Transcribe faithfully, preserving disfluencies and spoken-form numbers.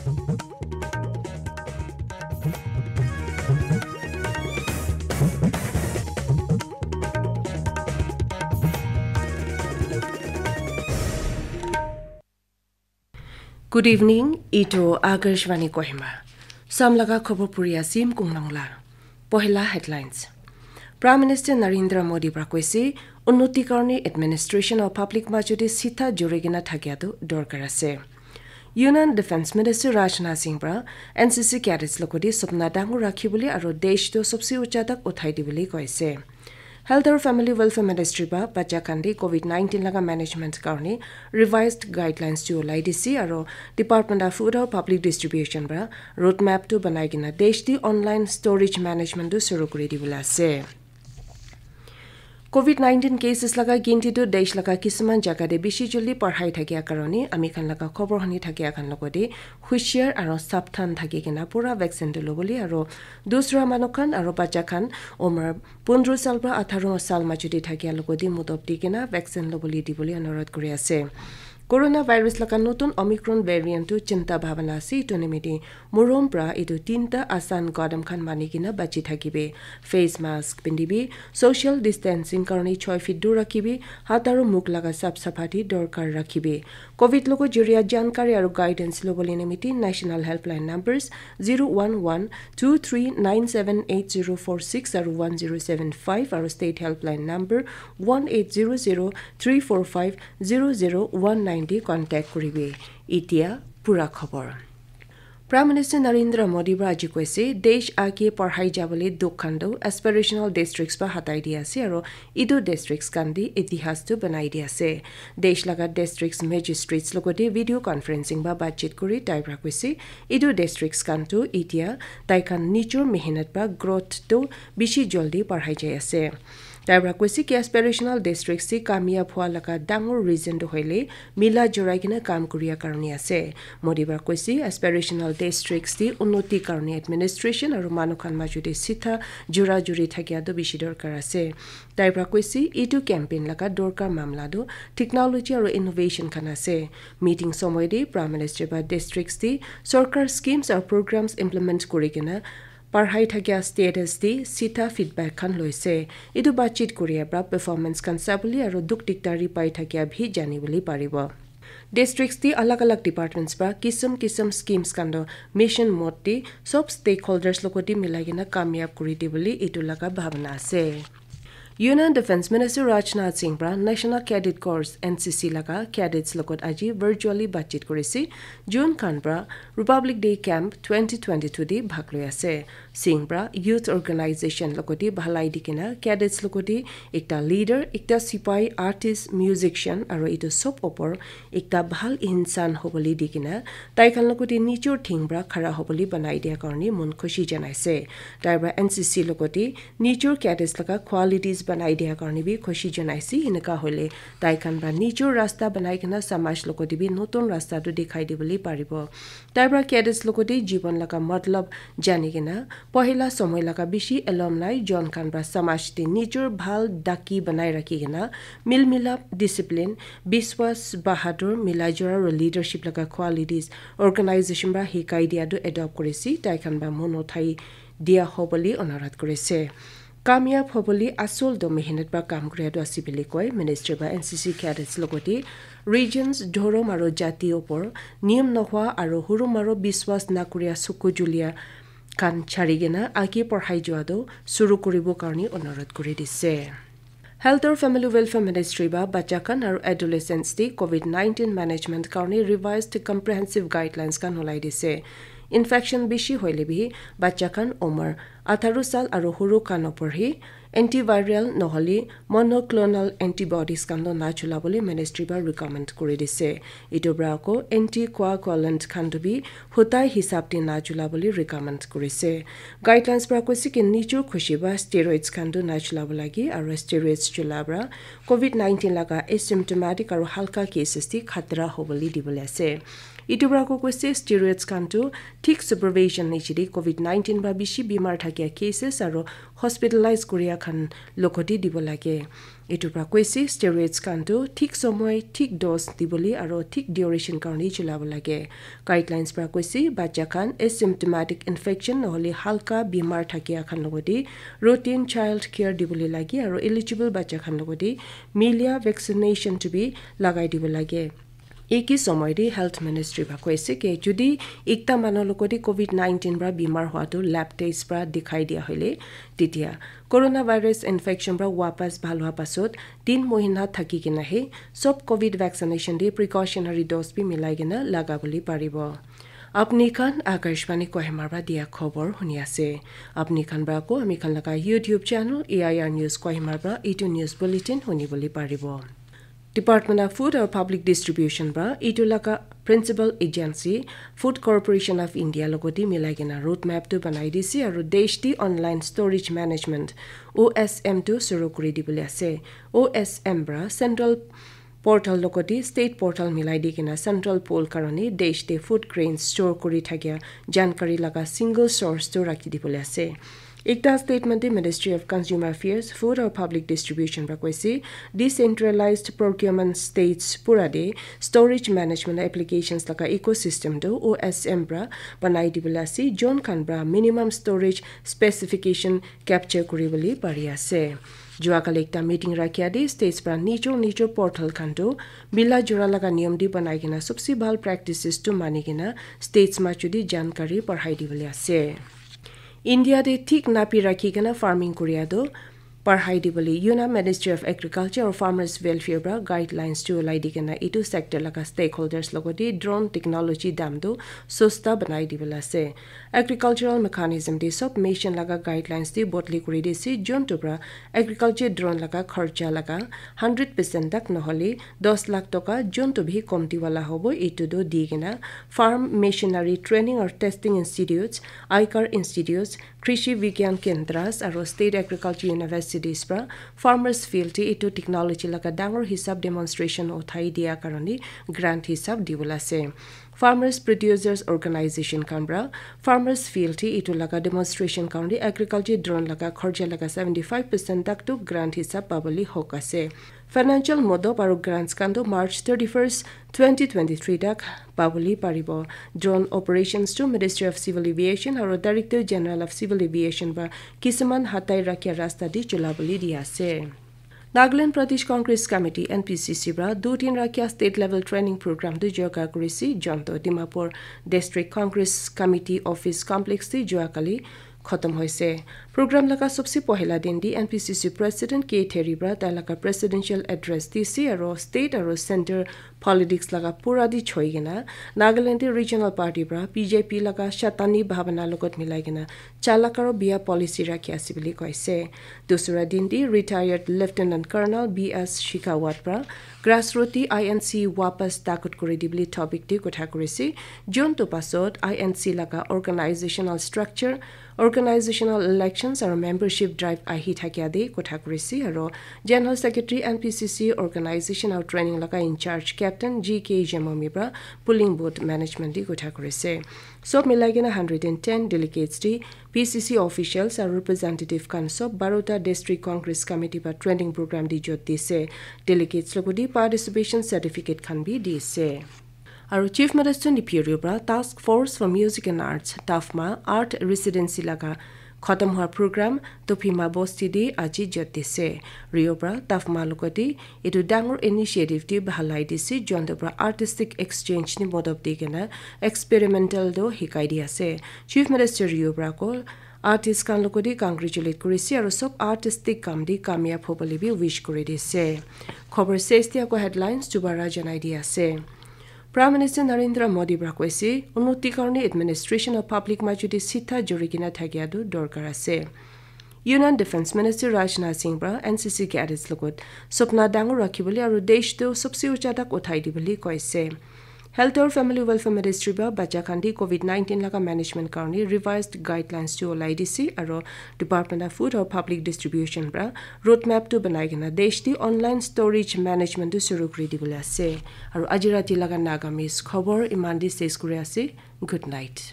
Good evening, itu Akashvani Kohima. Samlaga khobor puri asim kunglangla. Pohila headlines. Prime Minister Narendra Modi pra koise, unnoti karone administration aru public majodi sitha juri kena thakia tu dorkar ase. Union Defence Minister Rajnath Singh pra N C C cadets logodi sopna dangor rakhi bole aru desh tu sobse ucha tak uthai di bole koise. Health aru Family Welfare Ministry pra bacha khan de covid nineteen laga management karone revised guidelines tu ulai dise aru Department of Food aru Public Distribution pra roadmap tu banai kena desh de online storage management tu shuru kuri di bole ase. Covid nineteen cases laga ginti tu desh laga kisuman jaga de bishi joldi parhai thakia karone ami khan laga khobor huni thakia khan logode hushiar aru sapthan thaki kena pura vaccine tu lobole aru dusra manu khan aru bacha khan umar pondro sal pra atharo sal majodi thakia logode mudob di kena vaccine lobole di bole anurodh kuri ase. Coronavirus laga notun Omicron variant tu chinta bhabana ase, itu nimite morom pra itu tinta asan gadam khan mani kena bachi thakibe. Face mask pindibe, social distancing karone choi feet dur rakhibe, hat aru mukh laga sap saphati dorkar rakhibe. Covid logo joria jankari aru guidance lobole nimite National Helpline numbers zero one one two three nine seven eight zero four six aru one zero seven five aru State Helpline number one eight zero zero three four five zero zero one nine de contact kuribe. Itia pura khobor. Prime Minister Narendra Modi pra aji koise, desh age parhai jabole dukh khan tu aspirational districts pra hatai di ase aru itu districts khan de itihas tu banai di ase. Desh laga districts magistrates logode video conferencing pra batchit kuri tai pra koise, itu districts khan tu itia tai khan nijor mehnat pra growth tu bishi joldi parhai jai ase. Tai pra koise ki aspirational districts te kamyab hua laga dangor reason tu hoile mila jurai kena kam kuria karone ase. Modi pra koise aspirational districts te unnoti karone administration aru manu khan majodi sitha jura juri thakia tu bishi dorkar ase. Tai pra koise itu campaign laga dorkar mamla tu technology aru innovation khan ase. Meeting somoy de Prime Minister pra districts te sorkar schemes aru programs implement kuri kena parhai thakia status de sitha feedback khan loise. Itu batchit kuria pra performance khan sabole aru dukh dikdari pai thakia bhi jani bole paribo. Districts de alag alag departments pra kisam kisam schemes khan tu mission mode de sob stakeholders logodi milai kena kamyab kuri di bole itu laga bhabana ase. Union Defence Minister Rajnath Singh pra National Cadet Corps N C C laga cadets logot aji virtually batchit kurise. Jun khan pra Republic Day Camp twenty twenty-two de bhag loi ase. Singh pra youth organization logot de bhalai di kena cadets logot de ekta leader, ekta sipai, artist, musician aru itu sob opor ekta bhal insan hobole di kena tai khan logot de nijor thing pra khara hobole banai dia karone mon khushi janaise. Tai pra N C C logot de nijor cadets laga qualities banai dia karone bi khushi janaise. Eneka hoile tai khan pra nijor rasta banai kena samaj logot de bi notun rasta tu dikhai dibole paribo. Tai pra cadets logot de jibon laga matlab jani kena pohila somoy laga bishi alumni jon khan pra samaj de nijor bhal daki banai rakhi kena mil milap, discipline, biswas, bahadur, milai jora aru leadership laga qualities organization pra hikai dia tu adopt kurise. Tai khan pra mon uthai dia hobole onurodh kurise. Kamyab hobole asol do mehnat pra kam kuria tu ase bole koi. Ministry pra N C C cadets logot de regions, dhorom aru jati opor niyam nohwa aru hurum aru biswas nakuria suku julia khan chari kena age parhai jua tu suru kuribo karone onurodh kuri dise. Health aru Family Welfare Ministry pra bacha khan aru adolescents de covid nineteen management karone revised comprehensive guidelines khan ulai dise. Infection bishi hoile bi bacha khan umar atharo sal aru huru khan opor hi antiviral nohole monoclonal antibodies khan tu na chula bole ministry pra recommend kuri dise. Itu pra ako anticoagulant khan tu bi hutai hisab de na chula bole recommend kurise. Guidelines pra koise ki nijor khushi pra steroids khan tu na chula bo lage aru steroids chula pra covid nineteen laga asymptomatic aru halka cases de khatra hobole dibole ase. Etu para ko koise steroids khan tu thik supervision niche de covid nineteen para bishi bimar thakia cases aro hospitalize kuria khan logote dibo lage. Etu para koise steroids khan tu thik somoi, thik dose dibole aro thik duration karone chulabo lage. Guidelines para koise bacha khan asymptomatic infection nohole halka bimar thakia khan logote routine child care dibole lage aro eligible bacha khan logote milia vaccination tu bi lagai dibo lage. Eki somoi de health ministry ba koise ke judi ekta manu logote covid nineteen para bimar hua tu lab test para dikhai dia hoile, tetia coronavirus infection para wapas bhal hua pasot tin mohina thaki kena he sob covid vaccination de precautionary dose bi milai kena laga bole paribo. Apni khan Akashvani Kohima para dia khobor huni ase. Apni khan para ko ami khan laga YouTube channel A I R News Kohima para itu news bulletin huni bole paribo. Department of Food or Public Distribution para itu laga principal agency Food Corporation of India logote milai kena roadmap tu banai dise aro desh te online storage management O S M tu suru kuri dibole ase. O S M para central portal logote state portal milai di kena central pool karone desh te food grains store kuri thakia jankari laga single source tu rakhi dibole ase. Ekta statement de Ministry of Consumer Affairs, Food or Public Distribution para koise, decentralized procurement states pura de storage management applications laga ecosystem tu O S M para banai dibole ase, jon khan para minimum storage specification capture kuribole pari ase. Jua kali ekta meeting rakhia de states para nijo nijo portal khan tu mila jura laga niyom de banai kena sobse bhal practices tu mani kena states machu de jankari parhai dibole ase. India de thik napi rakhi kena farming kuria tu parhai dibole Union Ministry of Agriculture or Farmers Welfare para guidelines tu ulai di kena itu sector laga stakeholders logote drone technology dam tu sosta banai dibole ase. Agricultural mechanism de sob mission laga guidelines de bodli kuri dise, jontu para agriculture drone laga kharcha laga hundred percent tak nohole dos lakh toka jontu bhi komti wala hobo, itu do di kena farm machinery training or testing institutes, aikar institutes, krishi vigyan kendras aro state agriculture universities para farmers field te itu technology laga dangor hisab demonstration uthai dia karone grant hisab dibole ase. Farmers producers organization khan para farmers field te itu laga demonstration karone agriculture drone laga kharcha laga seventy five percent tak tu grant hisab pabole hok ase. Financial modop aro grants khan tu March thirty-first, twenty twenty-three tak pabole paribo. Drone operations tu Ministry of Civil Aviation aro Director General of Civil Aviation para kisuman hatai rakhia rasta de chulabole di ase. Nagaland Pradesh Congress Committee, N P C C, para dutin rakhia state level training program tu joga kurisi jonto Dimapur District Congress Committee Office Complex te jua kali khotom hoise. Program laga sobse pohila din di N P C C President K Theri para tai laga presidential address dise aro state aro center politics laga pura di choi kena Nagaland te regional party para B J P laga shatani bhabana logot milai kena chalak aro biya policy rakhi ase bole koise. Dusra din te retired Lieutenant Colonel B S Shekhawat para grassroot te I N C wapas takut kuri dibole topic te kotha kurise. Jontu pasot I N C laga organizational structure, organizational elections aro membership drive ahi thakia de kotha kurise aro General Secretary N P C C organization aro training laga in charge Captain G K Jemomi para polling booth management de kotha kurise. Sob milai kena hundred and ten delegates te P C C officials aro representative khan sob barota District Congress Committee para training program de jot dise. Delegates logote participation certificate khan bi dise. Aro Chief Minister Neiphiu Rio para Task Force for Music and Arts, TAFMA, Art Residency laga khotom hua program Tophima Bosti de aji jot dise. Rio para TAFMA logote etu dangor initiative de bahalai dise, jontu para artistic exchange ni modop di kena experimental do hikai di ase. Chief Minister Rio para ko artist khan logote congratulate kurise aro sob artistic kam de kamyab hobole bi wish kuri dise. Khobor ses dia ko headlines dubara janai di ase. Prime Minister Narendra Modi para koise, unnoti karone administration of public majo de sitha jori kena thakia tu dorkar ase. Union Defence Minister Rajnath Singh para N C C cadets logot sopna dangor rakhi bole aro desh tu sobse ucha tak uthai di bole koise. Health or Family Welfare Ministry para bacha khan di covid nineteen laga management karne revised guidelines tu olai dise aro Department of Food or Public Distribution para roadmap tu banai kena desh di online storage management tu shuru kuri dibole ase. Aro aji rati laga Nagamese khobor iman di ses kuri ase. Good night.